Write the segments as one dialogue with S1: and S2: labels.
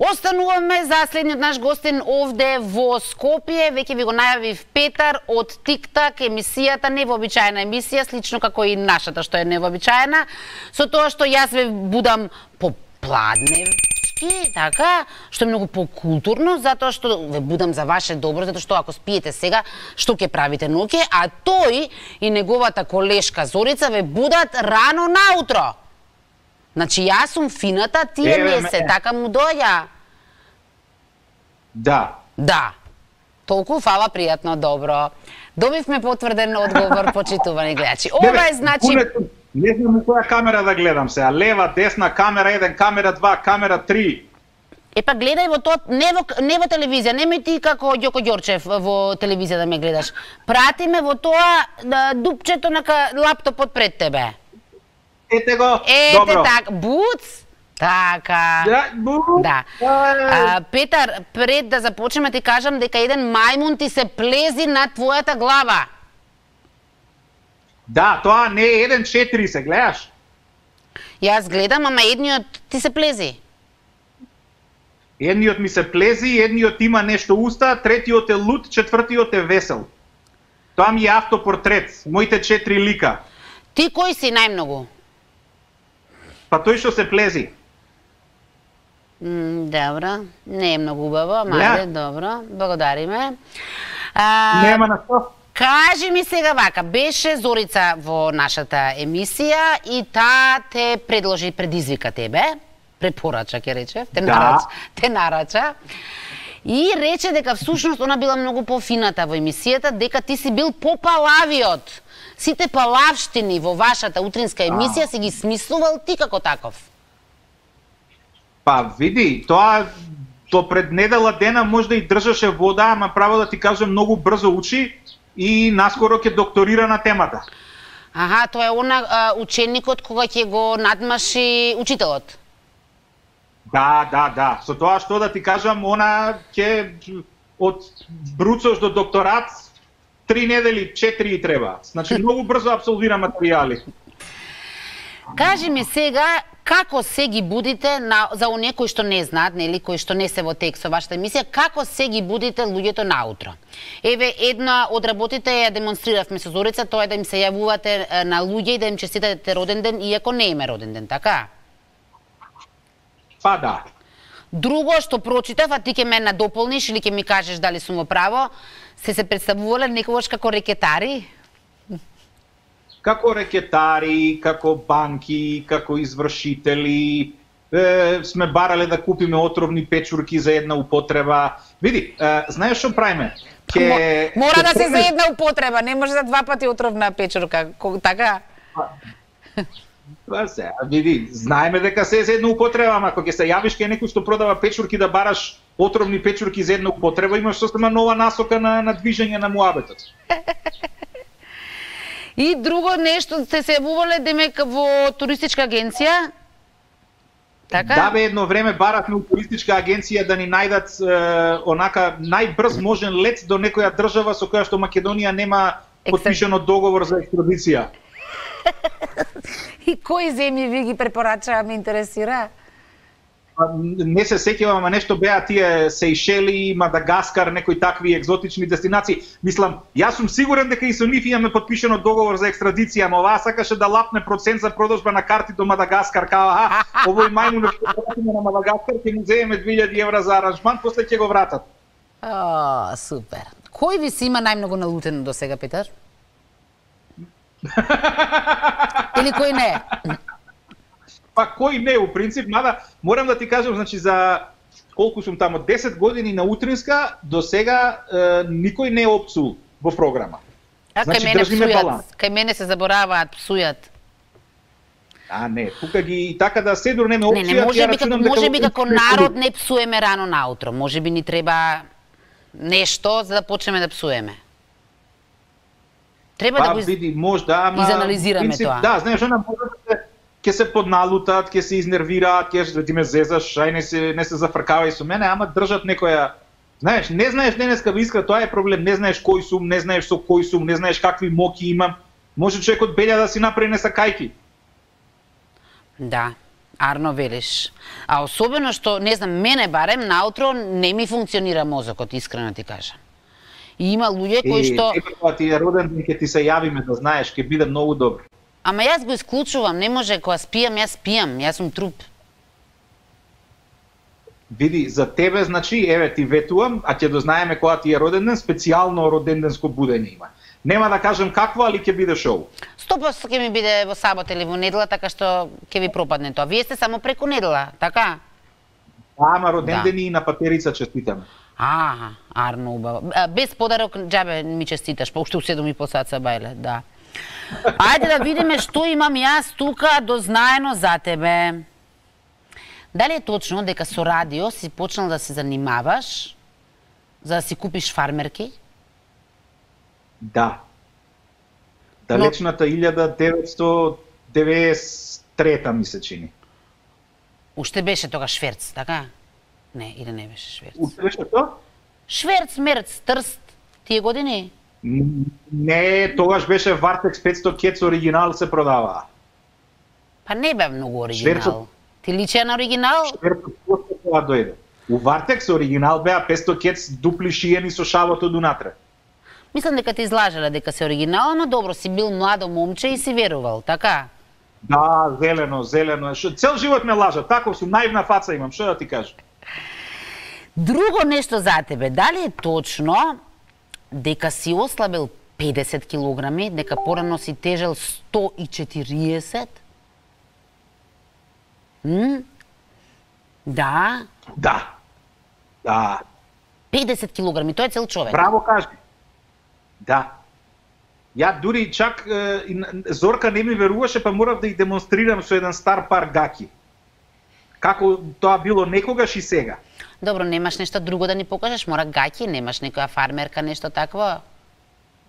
S1: Остануваме за следниот наш гостин овде во Скопје, веќе ви го најавив Петар од Тик-так, емисијата, невообичаена емисија, слично како и нашата што е невообичаена, со тоа што јас ве будам попладневски, така, што е многу покултурно, затоа што ве будам за ваше добро, затоа што ако спиете сега, што ќе правите ноќе, а тој и неговата колешка Зорица ве будат рано наутро. Значи, јас сум фината, тие не се, така му доја.
S2: Да.
S1: Да. Толку фала, пријатно, добро. Добивме потврден одговор, почитувани гледачи. Ова е, значи...
S2: Не знам у која камера да гледам се, лева, десна, камера 1, камера 2, камера 3.
S1: Па гледај во тоа, не во телевизија, немој ти како Ѓоко Ѓорчев во телевизија да ме гледаш. Прати ме во тоа дупчето на лаптопот пред тебе.
S2: Ете го,
S1: ете
S2: добро.
S1: така, буц, така.
S2: Да, буц.
S1: Да. Петар, пред да започнеме ти кажам дека еден мајмун ти се плези на твојата глава.
S2: Да, тоа не е 1-4 се, гледаш?
S1: Јас гледам, ама едниот ти се плези.
S2: Едниот ми се плези, едниот има нешто уста, третиот е луд, четвртиот е весел. Тоа ми е автопортрет, моите 4 лика.
S1: Ти кој си најмногу?
S2: Па тој што се плези.
S1: Добро, не е многу убаво, ама ајде, добро, благодариме.
S2: Нема на што.
S1: Кажи ми сега вака, беше Зорица во нашата емисија и таа те предложи, предизвика тебе, препорача, ќе рече, те нарача, и рече дека всушност она била многу пофината во емисијата, дека ти си бил попалавиот. Сите палавштини во вашата утринска емисија си ги смислувал ти како таков.
S2: Па види, тоа до пред недела дена можда и држаше вода, ама право да ти кажам многу брзо учи и наскоро ќе докторира на темата.
S1: Аха, тоа е она ученикот кога ќе го надмаши учителот.
S2: Да. Со тоа што да ти кажам, она ќе од бруцош до докторат 3 недели, 4 и треба. Значи, многу брзо абсолвира материјали.
S1: Кажи ми сега, како се ги будите, за оние кои што не знаат, нели, кои што не се во текст со вашата емисија, како се ги будите луѓето наутро? Еве, една од работите ја демонстриравме со Зорица, тоа е да им се јавувате на луѓе и да им честитате роден ден, иако не име роден ден, така?
S2: Па да.
S1: Друго што прочитав, а ти ќе ме надополниш или ќе ми кажеш дали сум во право, се представувале некогаш како рекетари?
S2: Како рекетари, како банки, како извршители, сме барале да купиме отровни печурки за една употреба. Види, знаеш што правиме?
S1: Мора да се за една употреба, не може за 2 пати отровна печурка, така?
S2: Па се, види, знаеме дека се за една употреба, ама ако ќе се јавиш кај некој што продава печурки да бараш отровни печурки за една употреба, имаш сосема нова насока на движење на муабетот.
S1: И друго нешто, сте се јавувале демек во туристичка агенција? Така?
S2: Да бе, едно време баравме у туристичка агенција да ни најдат онака најбрз можен лет до некоја држава со која што Македонија нема потпишано договор за екстрадиција.
S1: И кои земји ви ги препорачаа, ме интересира?
S2: Не се сеќавам, ама нешто беа тие Сејшели, Мадагаскар, некои такви екзотични дестинации. Мислам, јас сум сигурен дека и со нив имаме потпишано договор за екстрадиција, ама оваа сакаше да лапне процент за продажба на карти до Мадагаскар, као овој мајмун што платиме на Мадагаскар ќе му земеме 2000 евра за аранжман, после ќе го вратат.
S1: Супер. Кој ви си има најмногу налутено до сега, Петар? Или кој не?
S2: Па кој не, у принцип, мада морам да ти кажам, значи за колку сум тамо 10 години на утринска, до сега никој не е опсул во програма.
S1: Значи држиме баланс. Кај мене се забораваат, псујат.
S2: Не, тука ги така да се дурнеме опција.
S1: Не, можеби како народ не псуеме рано наутро. Можеби ни треба нешто за да почнеме да псуеме. Треба да го изанализираме тоа.
S2: Да, знаеш, она ќе се подналутат, ќе се изнервираат, ќе ти ме зезаш, ај не се зафркавај со мене, ама држат некоја. Знаеш, не знаеш денеска искра, тоа е проблем, не знаеш кој сум, не знаеш со кој сум, не знаеш какви моки имам. Може човекот белја да си направи несакајки.
S1: Да. Арно велиш. А особено што, не знам, мене барем наутро не ми функционира мозокот, искрено ти кажам. И има луѓе кои што...
S2: Кога ти е роден ден, ќе ти се јавиме да знаеш, ќе биде многу добро.
S1: Ама јас го исклучувам, не може, кога спијам, јас сум труп.
S2: Види, за тебе, значи, еве ти ветувам, а ќе дознаеме кога ти е роден ден, специјално роденденско будење има. Нема да кажем какво, али ќе биде шоу.
S1: 100% ќе ми биде во сабот или во недела, така што ќе ви пропадне тоа. Вие сте само преку недела, така?
S2: Ама родендени и на патерица честитаме.
S1: Арно убаво. Без подарок, џабе ми честиташ, па уште у 7:30 сат са бајле, да. Ајде да видиме што имам јас тука дознаено за тебе. Дали е точно дека со радио си почнал да се занимаваш за да си купиш фармерки?
S2: Да. Далечната 1993 ми се чини.
S1: Уште беше тога шверц, така? Не, или не беше шверц?
S2: Уште беше тоа?
S1: Шверц, мерц, трст, тие години?
S2: Не, тогаш беше Вартекс 500 кец оригинал се продаваа.
S1: Па не бе многу оригинал. Ти личи на оригинал?
S2: Шверцот после тоа дојде. У Вартекс оригинал беа 500 кец дупли шиени со шавот од унатре.
S1: Мислам дека ти излажале дека се оригинал, но добро, си бил младо момче и си верувал, така?
S2: Да, зелено. Цел живот ме лажат, таков сум, наивна фаца имам, што да ти кажам?
S1: Друго нешто за тебе, дали е точно дека си ослабил 50 килограми, дека порано си тежел 140? Да.
S2: Да.
S1: 50 килограми, тој е цел човек.
S2: Браво кажи. Да. Ја дури чак Зорка не ми веруваше, па морав да ги демонстрирам со еден стар пар гаки. Како тоа било некогаш и сега.
S1: Добро, немаш нешто друго да ни покажеш? Мора гаки, немаш некоја фармерка, нешто такво?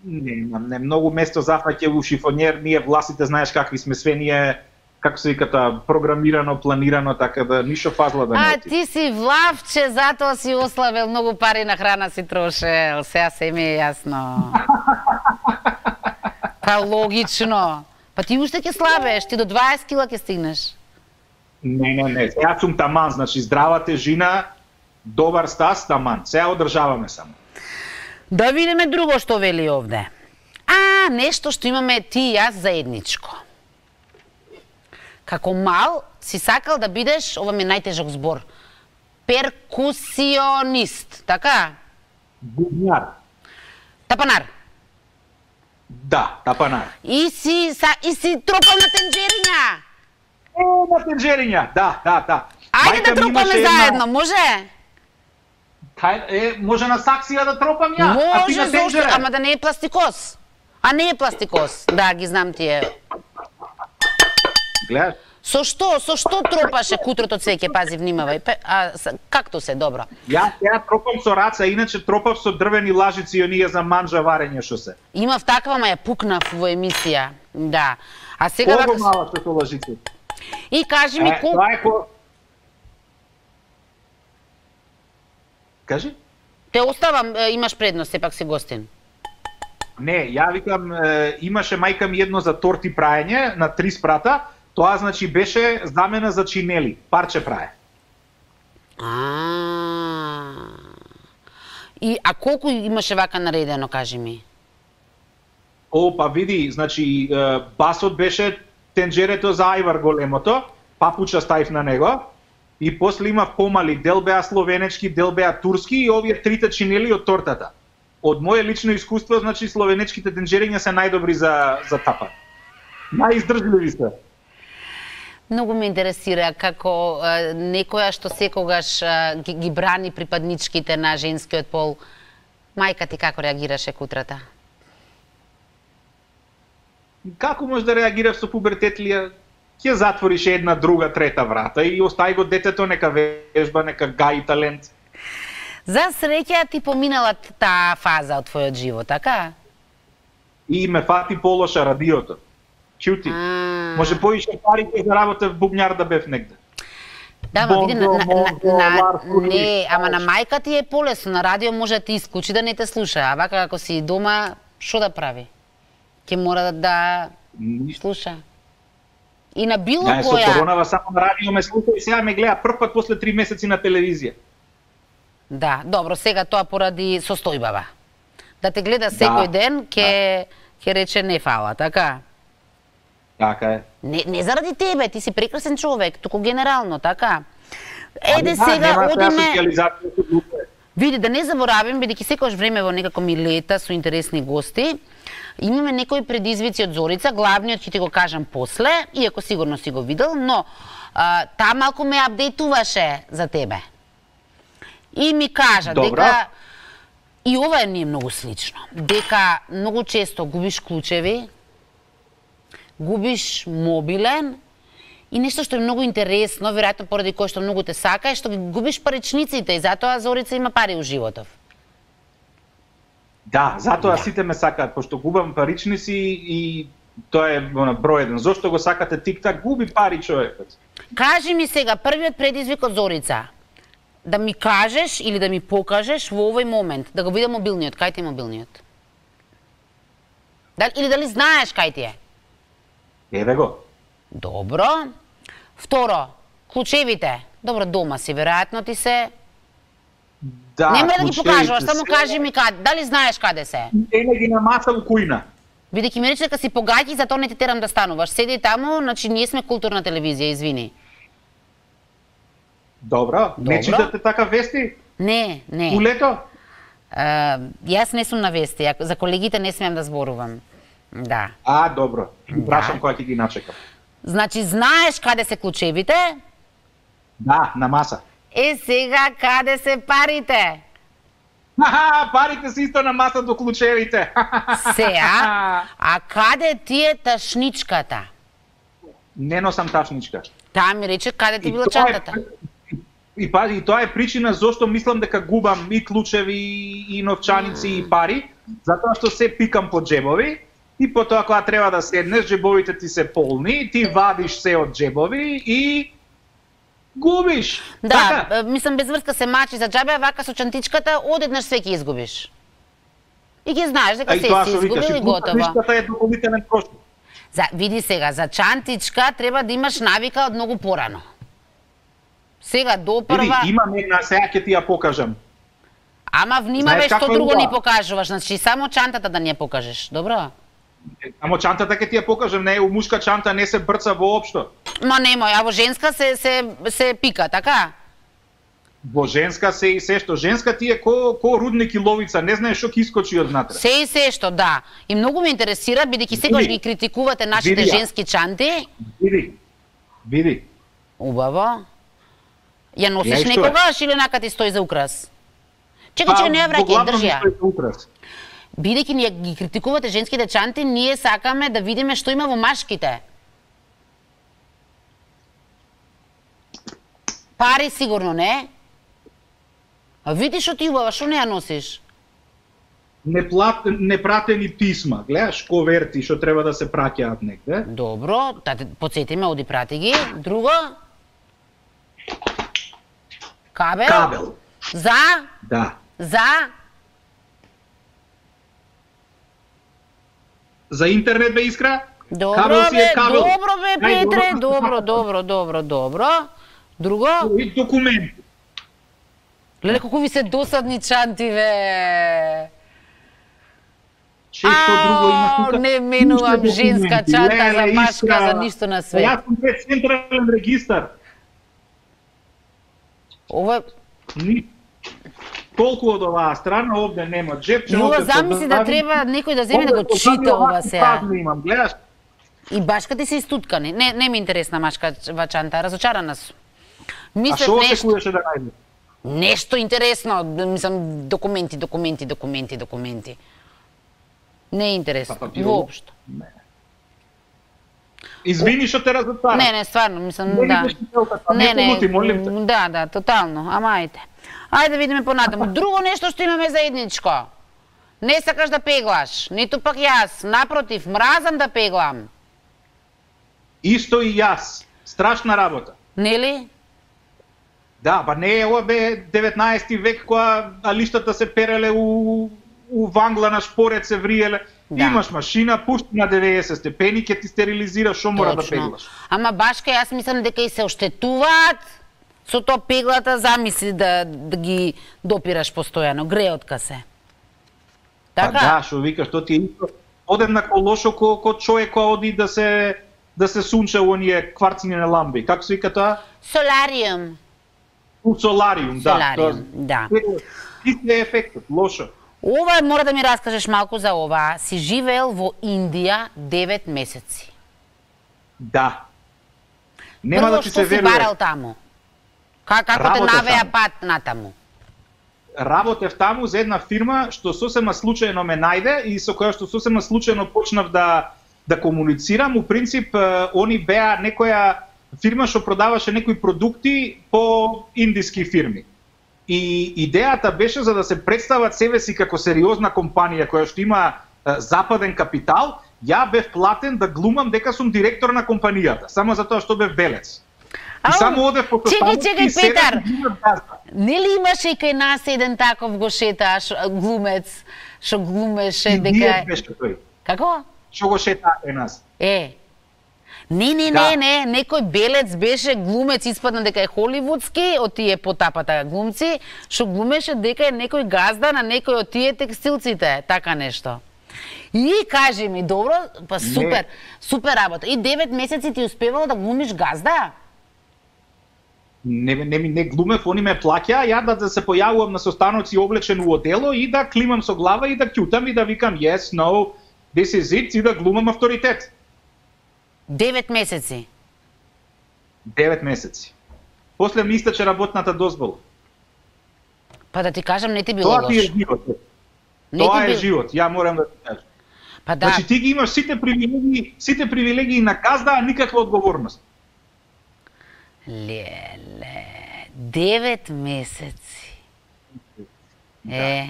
S2: Не, многу место зафаќа у шифонер, ние власите знаеш какви сме све, ние, како се вика тоа, програмирано, планирано, така да ништо фазла да не оти.
S1: Ти си влавче, затоа си ослабел, многу пари на храна си трошел, сега се ми е јасно. Па логично. Па ти уште ќе слабеш, ти до 20 кила ќе стигнеш.
S2: Не, сега сум таман, значи здрава тежина, добар стас, таман. Сега одржаваме само.
S1: Да видиме друго што вели овде. Нешто што имаме ти и јас заедничко. Како мал си сакал да бидеш, ова ми е најтежок збор, перкусионист, така?
S2: Бубњар.
S1: Тапанар.
S2: Да, тапанар.
S1: И си тропал на тенџериња.
S2: На тенџериња, да.
S1: Ајде да тропаме заедно, може?
S2: Може на саксија да тропам ја,
S1: а ти на тенџере. Ама да не е пластикос. А не е пластикос, да, ги знам тие.
S2: Гледаш?
S1: Со што тропаше кутрото цвеќе, пази, внимавај. Както се, добро.
S2: Ја тропам со раца, иначе тропав со дрвени лажици и оние за манжа варење што се.
S1: Имав таква, ма ја пукнав во емисија. Да. А сега
S2: Колку мала што со лажици?
S1: И кажи ми
S2: Кажи?
S1: Те оставам, имаш предност, сепак си гостин.
S2: Не, ја викам, имаше мајка ми едно за торти праење на 3 спрата, тоа значи беше замена за чинели, парче прае.
S1: А колку имаше вака наредено, кажи ми?
S2: Па види, значи басот беше тенџерето за ајвар големото, папуча ставив на него, и после имав помали, дел беа словенечки, дел беа турски и овие трите чинели од тортата. Од моје лично искуство, значи словенечките тенџериња се најдобри за тапа. Најиздржливи се.
S1: Многу ме интересира како некоја што секогаш ги брани припадничките на женскиот пол. Мајка ти како реагираше кутрата?
S2: Како може да реагираш со пубертетлија? Ќе затвориш една, друга, трета врата и остави го детето нека вежба, нека гаи талент.
S1: За среќа ти поминала таа фаза од твојот живот, така?
S2: И ме фати полоша радиото. Чути. Може повише пари ќе заработев бубњар да бев негде.
S1: Да, ма види, не, ама на мајка ти е полесно, на радио може да ти исклучи да не те слуша, а вака како си дома, што да прави? Ќе мора да слуша. И на било
S2: Со
S1: која...
S2: коронава само на радио ме слуша и сега ме гледа прв пат после 3 месеци на телевизија.
S1: Да, добро, сега тоа поради состојбава. Да те гледа секој ден, ќе рече не фала, така?
S2: Така е.
S1: Не заради тебе, ти си прекрасен човек, туку генерално, така? Еде сега одиме... Види, да не заборавим, бидејќи секојаш време во некако ми лета со интересни гости, имаме некои предизвици од Зорица, главниот ќе ти го кажам после, иако сигурно си го видел, но таа малку ме апдейтуваше за тебе. И ми кажа дека, и ова не е многу слично, дека многу често губиш клучеви, губиш мобилен, и нешто што е многу интересно, веројатно поради кој што многу те сака, е што ги губиш паричниците и затоа Зорица има пари у животов.
S2: Да, затоа сите ме сакаат, пошто губам паричници и тоа е број еден. Зошто го сакате тик-так? Губи пари човекот.
S1: Кажи ми сега, првиот предизвик од Зорица, да ми кажеш или да ми покажеш во овој момент, да го видам мобилниот, кај ти е мобилниот? Или дали знаеш кај ти е?
S2: Еве го.
S1: Добро. Второ, клучевите. Добро, дома си, веројатно ти се...
S2: Да,
S1: нема да ги покажуваш, само кажи ми каде. Дали знаеш каде се?
S2: Ене ги на маса у кујна.
S1: Бидејќи ми рече дека си погаќи, затоа не те терам да стануваш. Седи таму, значи ние сме културна телевизија, извини.
S2: Добро. Не читате така вести?
S1: Не.
S2: Улето?
S1: Јас не сум на вести, за колегите не смеам да зборувам. Да.
S2: Добро. Прашам кога ќе ги начекам.
S1: Значи, знаеш каде се клучевите?
S2: Да, на маса.
S1: Сега каде се парите?
S2: Парите се исто на маса до клучевите.
S1: Сеа, а каде ти е ташничката?
S2: Не носам ташничка.
S1: Таа ми рече каде ти била чантата.
S2: И пази, и тоа е причина зошто мислам дека губам и клучеви, и новчаници, и пари, затоа што се пикам по џебови, и потоа кога треба да седнеш, џебовите ти се полни, ти вадиш се од џебови и губиш.
S1: Да, така? Мислам без врска се мачи за џабе, вака со чантичката одеднаш све ќе изгубиш. И ќе знаеш дека се си изгубил и готово.
S2: Чантичката е дополнителен трошок.
S1: Види сега, за чантичка треба да имаш навика од многу порано. Сега допрва...
S2: Имам една, сега ќе ти ја покажам.
S1: Ама внимавај што друго ни покажуваш, значи само чантата да ни ја покажеш, добро?
S2: Само чантата ќе ти ја покажам, не е у мушка чанта, не се брца воопшто.
S1: Ма немој, а во женска се пика, така?
S2: Во женска се и се што. Женска ти е ко рудник и ловица, не знаеш што ќе искочи од внатре.
S1: Се и се што, да. И многу ме интересира, бидејќи секогаш ги критикувате нашите женски чанти.
S2: Види.
S1: Убаво. Ја носиш некогаш или нака ти стои за украс? Чекај, не ја враќај, држи ја. Бидејќи ние ги критикувате женските чанти, ние сакаме да видиме што има во машките. Пари сигурно не. А види што ти убава, што не ја носиш?
S2: Непратени писма, гледаш коверти што треба да се праќаат негде.
S1: Добро, потсети ме, оди прати ги. Друго? Кабел. За?
S2: Да. За интернет бе, Искра?
S1: Добро бе, Петре, добро. Друго?
S2: И документи.
S1: Леле, колку ви се досадни чанти, бе.
S2: Што друго има тука?
S1: Не менувам женска чанта за машка, за ништо на свет.
S2: Јас сум пред централен регистар.
S1: Ова
S2: толку од оваа страна, овде нема джепче.
S1: Јува замисли да треба некој да земе да го чита ова сега.
S2: Имам, гледаш?
S1: И башка ти се истуткани. Не ми интересна машкава чанта, разочарана сум.
S2: А што очекуваше да најде?
S1: Нешто интересно, мислам документи. Не е интересно, воопшто.
S2: Извини што те разотварам.
S1: Не, стварно, мислам, да. Да, тотално, ама ајде. Ајде да видиме понатаму. Друго нешто што имаме заедничко. Не сакаш да пеглаш, ниту пак јас. Напротив, мразам да пеглам.
S2: Исто и јас. Страшна работа.
S1: Нели?
S2: Да, ба не е ова бе 19 век кога алиштата се переле у уванглана шпорец се вриеле.
S1: Да.
S2: Имаш машина, пушти на 90 степени, ќе ти стерилизира, што мора да пеглаш.
S1: Ама башка, јас мислам дека и се оштетуваат со тоа пеглата, замисли да ги допираш постојано, греотка се.
S2: Така? Па да, што викаш, тоа ти е исто одеднакво лошо ко човек кој оди да се сунча у оние кварцини на ламби. Како се вика тоа?
S1: Солариум.
S2: Солариум, да.
S1: Солариум, да.
S2: Исти е ефектот, лошо.
S1: Ова мора да ми раскажеш малку за ова. Си живеел во Индија 9 месеци.
S2: Да. Нема
S1: Прво,
S2: да ти се
S1: Што
S2: верува.
S1: си барал таму? Како те навеа пат натаму?
S2: Работев таму за една фирма што сосема случајно ме најде и со која што сосема случајно почнав да комуницирам. У принцип, они беа некоја фирма што продаваше некои продукти по индиски фирми. И идејата беше за да се представат себе си како сериозна компанија која што има западен капитал, ја бев платен да глумам дека сум директор на компанијата, само затоа што бев белец. И само одев по
S1: Чекај, Петар. Нели имаше и кај нас еден таков го шеташ глумец, што глумеше дека
S2: Ние беше тој.
S1: Како?
S2: Што го шета кај нас?
S1: Не, некој белец беше глумец, испадна дека е холивудски, од тие потапата глумци, што глумеше дека е некој газда на некој од тие текстилците, така нешто. И кажи ми, добро, па супер, супер работа. И 9 месеци ти успевало да глумиш газда?
S2: Не глумев, они ме плаќаа, ја да се појавувам на состаноци облечен у одело и да климам со глава и да ќутам и да викам yes, no, this is it и да глумам авторитет.
S1: 9 месеци?
S2: 9 месеци. После ми истече работната дозвола.
S1: Па да ти кажам, не ти било лошо.
S2: Тоа ти е живот. Тоа е живот, ја морам да ти кажам.
S1: Па да.
S2: Значи ти ги имаш сите привилегии на газда, а никаква одговорност.
S1: Леле, 9 месеци.
S2: Да.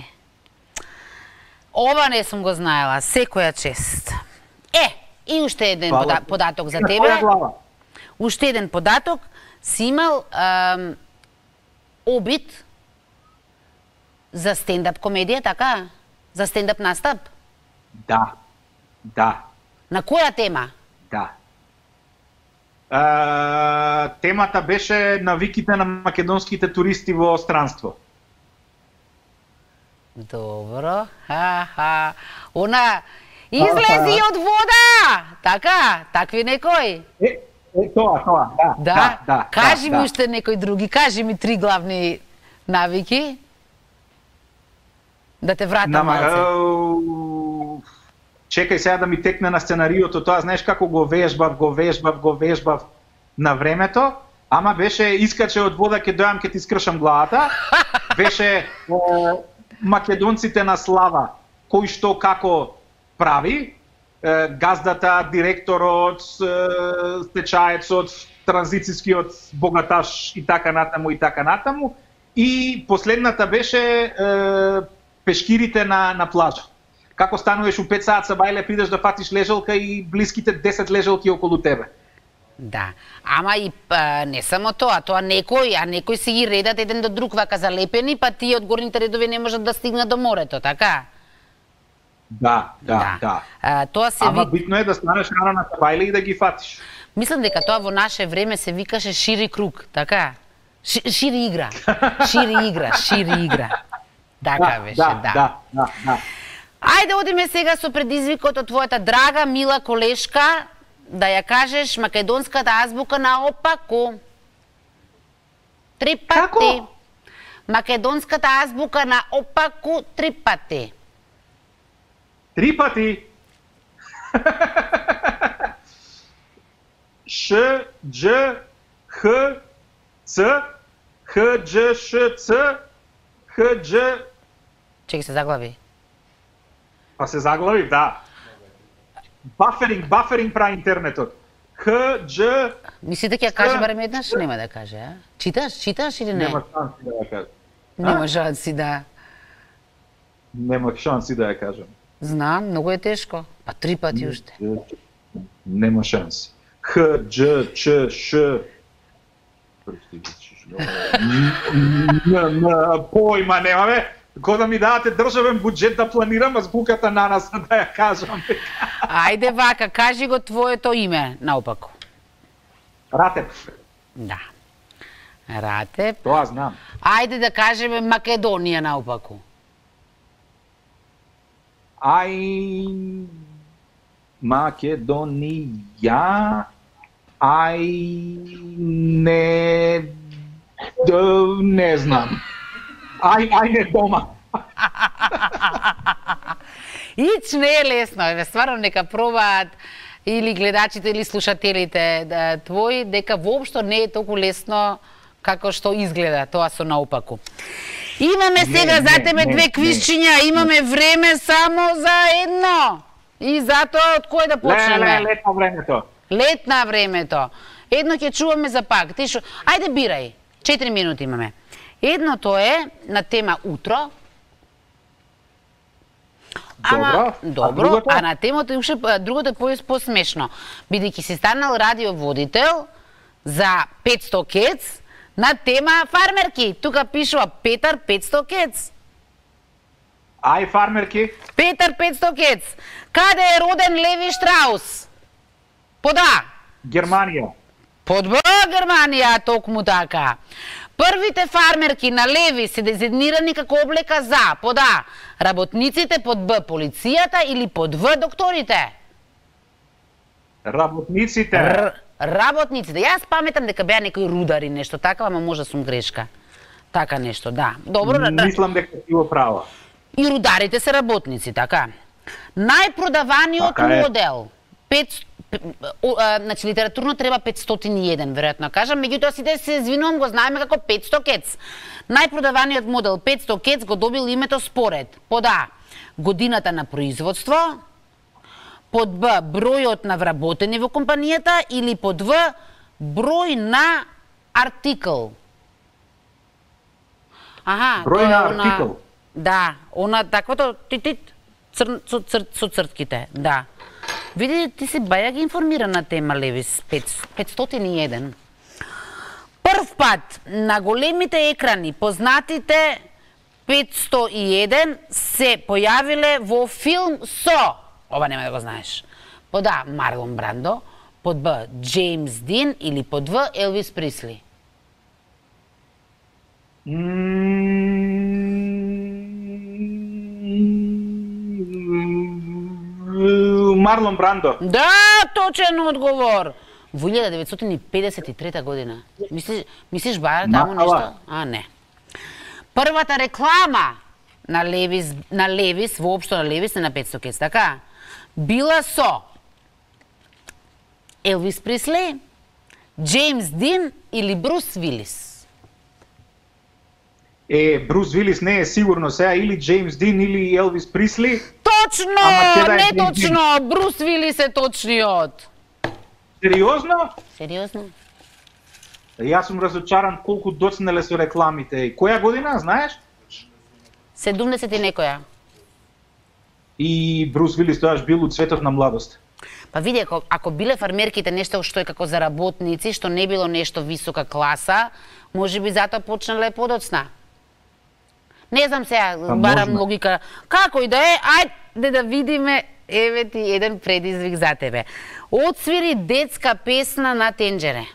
S1: Ова не сум го знаела, секоја чест. И уште еден податок за тебе. Уште еден податок, си имал обид за стендап комедија, така? За стендап настап?
S2: Да.
S1: На која тема?
S2: Да. Темата беше навиките на македонските туристи во странство.
S1: Добро. Она излези од вода! Така? Такви некој?
S2: Тоа, да.
S1: Кажи ми уште некој други, кажи ми 3 главни навики. Да те вратам малце.
S2: Чекај сега да ми текне на сценариото, тоа знаеш како го вежбав на времето, ама беше искаче од вода ќе дојам ќе ти скршам главата. Беше македонците на слава, кој што како прави, газдата, директорот, стечаецот, транзицијскиот богаташ и така натаму. И последната беше пешкирите на плажа. Како стануваш у 5 саат са бајле, придеш да фатиш лежалка и блиските 10 лежалки околу тебе.
S1: Да, ама и не само тоа некој си ги редат еден до друг вака залепени, па тие од горните редови не можат да стигнат до морето, така?
S2: Да.
S1: Тоа се
S2: ама битно е да станеш рано на бајле и да ги фатиш.
S1: Мислам дека тоа во наше време се викаше шири круг, така? Шири игра. Така беше, да. Ајде одиме сега со предизвикот од твојата драга, мила колешка, да ја кажеш македонската азбука наопаку. 3 пати.
S2: Како?
S1: Македонската азбука наопаку 3 пати.
S2: 3 пати. Ш, Дж, Х, Ц, Х, Дж, Ш, Ц, Х, Дж...
S1: Чеки се заглави.
S2: Па се заглави, да. Баферинг прави интернетот. Х, Дж...
S1: Мислите ќе ја каже барем еднаш? Нема да каже, а? Читаш или не?
S2: Нема шанси да ја кажам.
S1: Нема шанси, да.
S2: Нема шанси да ја кажам.
S1: Знам, многу е тешко. Па 3 пати уште.
S2: Нема шанси. Х, Дж, Ч, Ш... Појма немаме. Кога да ми дадете државен буџет да планирам азбуката на нас, да ја кажам.
S1: Ајде вака, кажи го твоето име наопаку.
S2: Ратеп.
S1: Да. Ратеп.
S2: Тоа знам.
S1: Ајде да кажеме Македонија наопаку.
S2: Македонија. Не знам. Не дома.
S1: Ич не е лесно, стварно нека пробаат или гледачите или слушателите твои, дека воопшто не е толку лесно како што изгледа тоа со наопаку. Имаме сега за тебе две квизчиња, имаме време само за едно. И затоа од кој да почнеме?
S2: Лет на времето.
S1: Лет на времето. Едно ќе чуваме за пак. Ти шо... Ајде бирај. 4 минути имаме. Едното е на тема утро. Добро. А на темата уште другото е посмешно. Бидејќи си станал радиоводител за 500 кец на тема фармерки. Тука пишува Петар 500 кец.
S2: Фармерки.
S1: Петар 500 кец. Каде е роден Леви Штраус? Под А.
S2: Германија.
S1: Под Б Германија, токму така. Првите фармерки на Леви се дезигнирани како облека за под А работниците, под Б полицијата или под В докторите?
S2: Работниците.
S1: Работниците. Јас паметам дека беа некои рудари, нешто така, ама може сум грешка. Така нешто, да. Добро,
S2: мислам дека ти го права.
S1: И рударите се работници, така. Најпродаваниот модел. Значи литературно треба 501, веројатно кажам, меѓутоа сите се извинувам, го знаеме како 500 кец. Најпродаваниот модел 500 кец го добил името според под А годината на производство, под Б бројот на вработени во компанијата или под В број на артикл.
S2: Број на артикл.
S1: Да, она таквото титит со цртките, да. Види, ти си баја ги информиран на тема Левис 501. Прв пат на големите екрани познатите 501 се појавиле во филм со, ова нема да го знаеш, под А Марлон Брандо, под Б Джеймс Дин или под В Елвис Присли.
S2: Марлон Брандо.
S1: Да, точен одговор. Во 1953 година. Мислиш баја таму нешто? Не. Првата реклама на Левис, воопшто на Левис, не на 500 кец, така? Била со Елвис Присли, Джеймс Дин или Брус Вилис?
S2: Брус Вилис не е сигурно сега, или Джеймс Дин или Елвис Присли.
S1: Точно, не точно, Брус Вилис е точниот.
S2: Сериозно?
S1: Сериозно.
S2: Јас сум разочаран колку доцнеле со рекламите. Која година, знаеш?
S1: 70 и некоја.
S2: И Брус Вилис тоаш бил у цветот на младост.
S1: Па види, ако биле фармерките нешто што е како за работници, што не било нешто висока класа, може би затоа почнале подоцна. Не знам сега, барам логика. Како и да е, ајде да видиме, еве ти еден предизвик за тебе. Отсвири детска песна на Тенџере.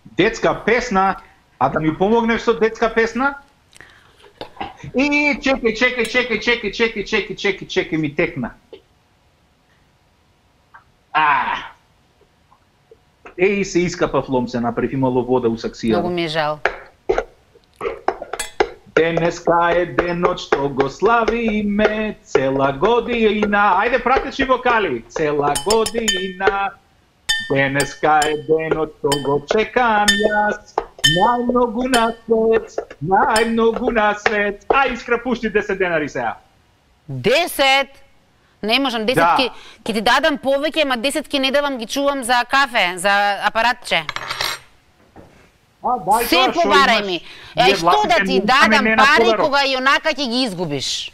S2: Детска песна? А да ми помогнеш со детска песна? И чекај, ми текна. Се искапав ломце, направив, имало вода у саксија.
S1: Многу ми е жал.
S2: Денеска е денот што го славиме цела година. Ајде пратечи вокали. Цела година. Денеска е денот што го чекам јас. Најмногу на свет. Искра, пушти 10 денари сега.
S1: 10? Не можам, 10 ки ти дадам повеќе, ама 10 ки не давам, ги чувам за кафе, за апаратче. Се побарај ми. Што да ти дадам пари кога и онака ќе ги изгубиш?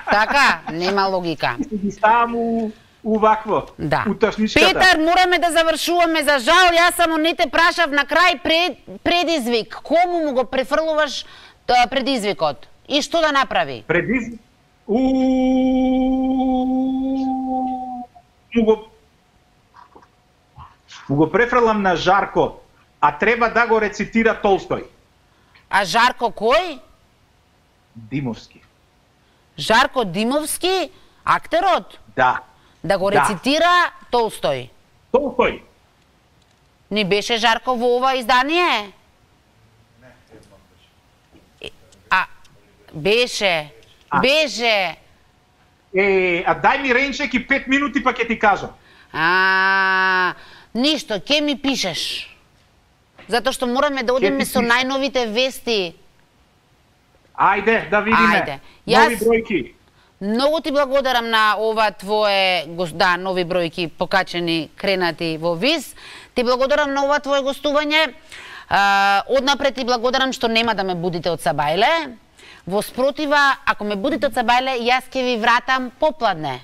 S1: Така, нема логика.
S2: увакво,
S1: Да.
S2: уташничката.
S1: Петар, мораме да завршуваме. За жал, јас само не те прашав на крај предизвик. Кому му го префрлуваш предизвикот? И што да направи?
S2: Предизвик? Му го префрлам на Жарко, а треба да го рецитира Толстој.
S1: А Жарко кој?
S2: Димовски.
S1: Жарко Димовски, актерот?
S2: Да.
S1: Да го рецитира Толстој.
S2: Толстој.
S1: Не беше Жарко во ова издание? А, беше. Беше.
S2: А дај ми ренчек и 5 минути па ќе ти кажам.
S1: Ништо, ќе ми пишеш. Затоа што мораме да одиме со најновите вести.
S2: Ајде, да видиме.
S1: Ајде.
S2: Нови бројки.
S1: Многу ти благодарам на ова твое, нови бројки покачени, кренати во ВИС. Ти благодарам на ова твое гостување. Однапред ти благодарам што нема да ме будите од Сабајле. Во спротива, ако ме будите од Сабајле, јас ќе ви вратам попладне.